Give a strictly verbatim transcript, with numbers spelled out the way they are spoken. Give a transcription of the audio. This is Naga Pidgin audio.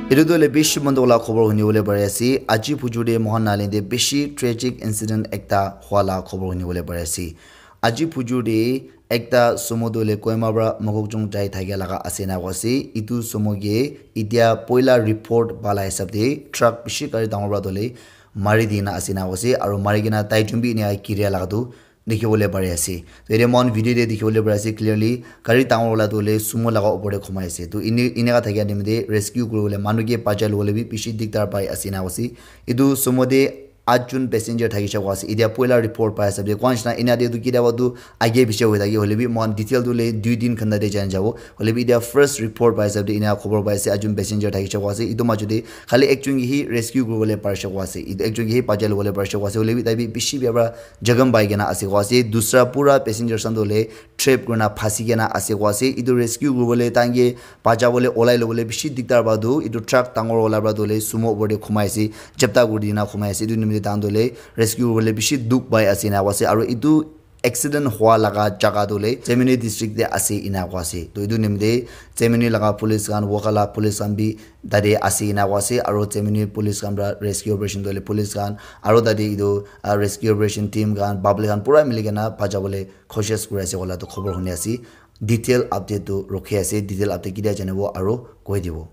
Etu tu le bishi mon dukh la khobor huni bole pari ase. Aji phujur te mohan Nagaland te bishi tragic incident ekta hua la khobor huni bole pari ase. Aji phujur te ekta sumo tu le Kohima pra Mokokchung jai thakia laga ase na koise. Etu sumo ke etia poila report pala hisab te truck bishi gari dangor pra tu le mari dina ase na koise. Aru mari kena tai jun bi enia kiria laga tu dikhi bole pari ase. To yate mohan video te dikhi bole pari ase clearly, gari dangor wala tu hoile sumo laga opor te khumai ase. To ini, ineka thakia time te rescue kuri bole manu ke bachai lobole bi bishi dikdar pai ase na koise. Etu sumo te at jun passenger thaki shakwa ase. Etia poila report pai ase. Koa nishina enia te tu kitiaba tu age piche hoi thaki hoile bi mohan detail tu le dui din khanda te jai jabo. Hoile bi etia first report pai ase. Enia khobor pai ase. At jun passenger thaki shakwa ase. Etu majo te khali ekjun ke hi rescue kuri bole pari shakwa ase. Etu ekjun ke hi bachai lobole pari shakwa ase. Hoile bi tai bi bishi bia pra jakham pai kena ase koa ase. Dusra pura passengers khan tu hoile trap kurina phasi kena ase koa ase. Etu rescue kuribole tahan ke bacha bole olai lobole bishi dikdar pa tu. Etu truck dangor wala pra tu hoile sumo opor te khumai ase, japta kuri dina khumai ase. Etu nimite tahan tu hoile rescue kuribole bishi dukh pai ase ena koa ase. Aru etu accident hua laga jaga tu hoile Chemuni district te ase ena koa ase. To etu nimite Chemuni laga police khan, Wokha la police khan bi tate ase ena koa ase. Aru Chemuni police khan pra rescue operation tu hoile police khan aru tate etu, ah, rescue operation team khan, public khan pura mili kena bacha bole koshish kuri ase koa la tu khobor huni ase. Detail update tu rukhi ase, detail update ketia janibo aru koi dibo.